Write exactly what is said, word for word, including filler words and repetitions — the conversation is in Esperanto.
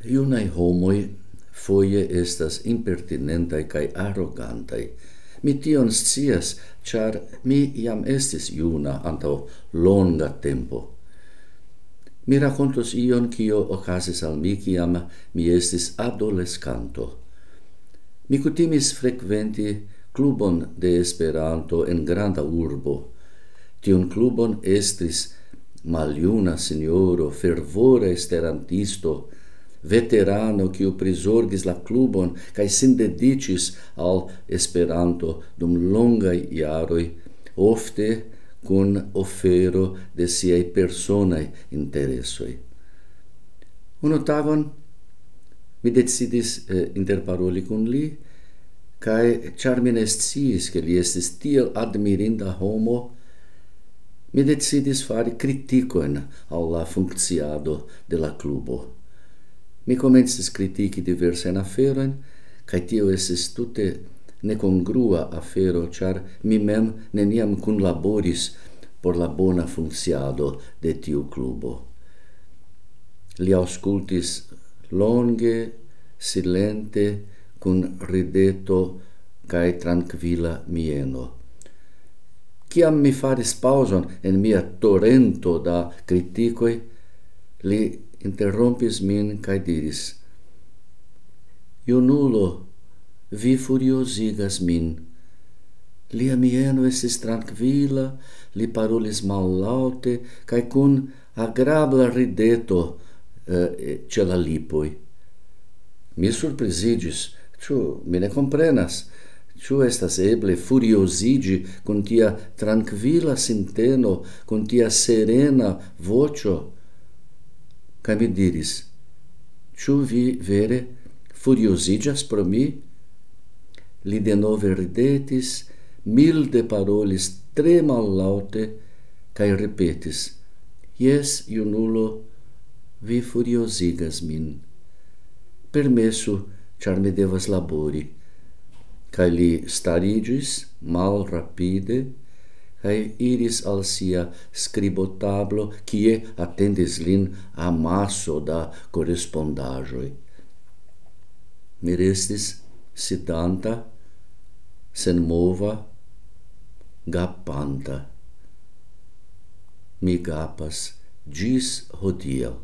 Junaj homoj foje estas impertinentaj kaj arogantaj. Mi tion scias, ĉar mi jam estis juna antaŭ longa tempo. Mi rakontos ion, kio okazis al mi, kiam mi estis adoleskanto. Mi kutimis frekventi klubon de Esperanto en granda urbo. Tiun klubon estris maljuna sinjoro, fervora esperantisto, veterano, kiu prizorgis la klubon kaj sin dediĉis al Esperanto dum longaj jaroj, ofte kun ofero de siaj personaj interesoj. Unu tagon mi decidis, eh, interparoli kun li, kaj ĉar mi ne sciis, ke li estis tiel admirinda homo, mi decidis fari kritikojn al la funkciado de la klubo. Mi komencis kritiki diversajn aferojn, kaj tio estis tute nekongrua afero, ĉar mi mem neniam kunlaboris por la bona funkciado de tiu klubo. Li aŭskultis longe, silente, kun rideto kaj trankvila mieno. Kiam mi faris paŭzon en mia torento da kritikoj, li interrompis min kaj diris: "Junulo, vi furiozigas min." Lia mieno estis trankvila, li parolis mallaŭte kaj kun agrabla rideto, eh, ĉe la lipoj. Mi surpriziĝis, ĉu mi ne komprenas, ĉu estas eble furioziĝi kun tia trankvila sinteno, kun tia serena voĉo? Kaj mi diris: "Ĉu vi vere furioziĝas pro mi?" Li denove ridetis, milde parolis tre mallaŭte kaj ripetis: "Jes, junulo, vi furiozigas min. Permesu, ĉar mi devas labori." Kaj li stariĝis malrapide kaj iris al sia skribotablo, kie atendis lin amaso da korespondaĵoj. Mi restis sidanta, senmova, gapanta. Mi gapas ĝis hodiaŭ.